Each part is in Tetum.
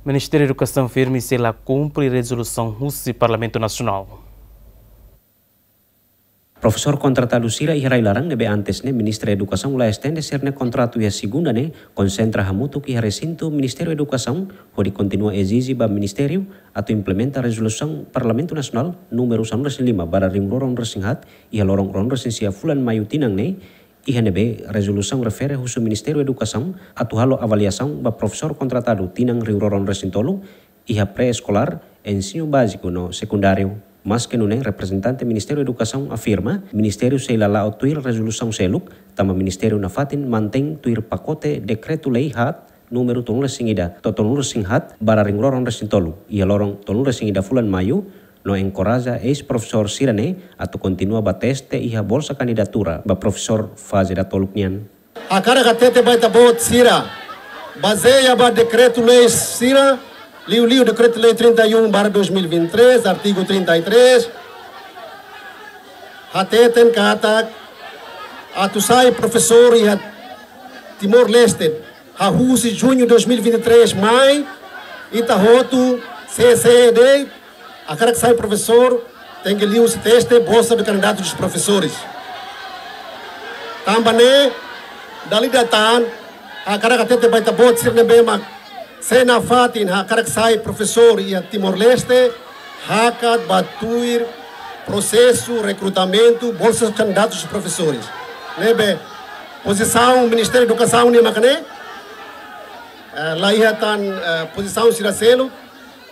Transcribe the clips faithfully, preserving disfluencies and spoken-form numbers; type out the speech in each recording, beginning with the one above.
Ministériu Edukasaun firme sei la kumpre rezolusaun husi Parlamentu Nasionál. Profesór kontratadu sira iha rai-laran ne'ebé antes ne'e Ministériu Edukasaun la estende sira-nia kontratu iha segunda ne'e konsentra hamutuk iha resintu Ministériu Edukasaun hodi kontinua ezije ba Ministériu atu implementa rezolusaun Parlamentu Nasionál númeru sanulu-resin-lima barra rihun rua ruanulu-resin-haat iha loron ruanulu-resin-sia fulan Maiu tinan ne'e, iha ne'ebé rezolusaun refere husu Ministériu Edukasaun atu halo avaliasaun ba profesór kontratadu tinan rihun rua ruanulu-resin-tolu iha pré-eskolár, ensinu báziku no sekundáriu. Maske nune'e, reprezentante Ministériu Edukasaun afirma, Ministériu sei la la'o tuir rezolusaun seluk, tanba Ministériu nafatin mantein tuir pakote dekretu-lei haat númeru tolunulu-resin-ida to'o tolunulu-resin-haat barra rihun rua ruanulu-resin-tolu iha loron tolunulu-resin-ida fulan Maiu, no enkoraja eis-profesór sira-ne'e atu kontinua ba teste iha bolsa kandidatura ba profesór faze datoluk nian. Hakarak hatete ba ita-boot sira, bazeia ba dekretu-lei sira, liuliu dekretu-lei trinta e um barra dois mil e vinte e três, artigu trinta e três, hateten katak atu sai profesór iha Timor-Leste, hahú husi juñu dois mil e vinte e três mai, ita hotu, sé sé de'it, hakarak sai profesór, tenke liuhusi teste bolsa de candidato dos professores. Tanba ne'e, dala ida tan, hakarak hatete ba ita-boot sira ne'ebé mak sei nafatin hakarak sai profesór iha Timor-Leste, hakat ba tuir prosesu rekrutamentu bolsa candidatos professores. Ne'ebé, pozisaun Ministériu Edukasaun nian mak ne'e, eh, la iha tan, eh, pozisaun sira seluk,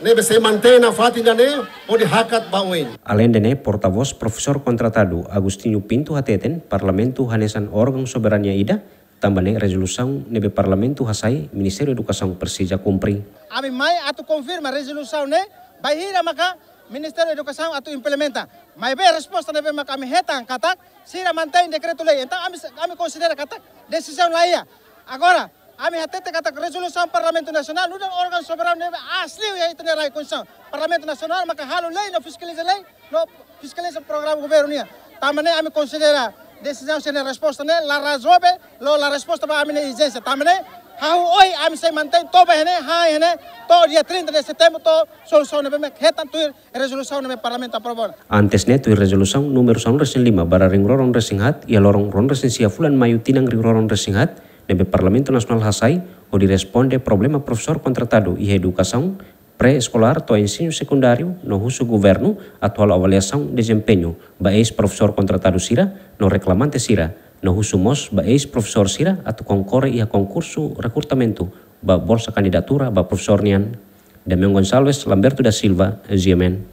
ne'ebé sei mantein nafatin ida-ne'e, hodi hakat ba oin. Aleinde ne'e, portavós profesór kontratadu Agostinho Pinto hateten, Parlamentu hanesan órgaun soberania ida, tanba ne'e rezolusaun ne'ebé Parlamentu hasai, Ministériu Edukasaun presiza kumpre. Ami mai atu konfirma rezolusaun ne'e, bainhira maka Ministériu Edukasaun atu implementa. Maibé resposta ne'ebé maka ami hetan katak, sira mantein dekretu-lei. Entaun ami, ami konsidera katak desizaun la iha. Agora, ami hatete katak rezolusaun Parlamentu Nasionál, nu'udar órgaun soberanu ne'ebé aas liu iha ita-nia rai Konstituisaun. Parlamentu Nasionál maka halo lei no fiskaliza lei, no fiskaliza programa governu nian. Tanba ne'e ami konsidera desizaun sira-nia resposta ne'e la rezolve, no la resposta ba ami-nia ezijénsia. Tanba ne'e, hahú ohin ami sei mantein to'o ba iha ne'e, han iha ne'e, to'o dia trinta de setembru, to'o solusaun ne'ebé mak hetan tuir rezolusaun ne'ebé Parlamentu aprova. Antes ne'e tuir rezolusaun númeru sanulu-resin-lima barra rihun rua ruanulu-resin-haat, iha loron ruanulu-resin-sia fulan Maiu tinan rihun rua ruanulu-resin-haat, ne'ebé Parlamentu Nasionál hasai, hodi responde problema profesór kontratadu iha edukasaun pré-eskolár to'o ensinu sekundáriu no husu governu atu halo avaliasaun dezempeñu ba eis-profesór kontratadu sira no reklamante sira, no husu mós ba eis-profesór sira atu konkorre iha konkursu rekrutamentu ba bolsa kandidatura ba profesór nian. Damião Gonçalves, Lamberto da Silva, G M N.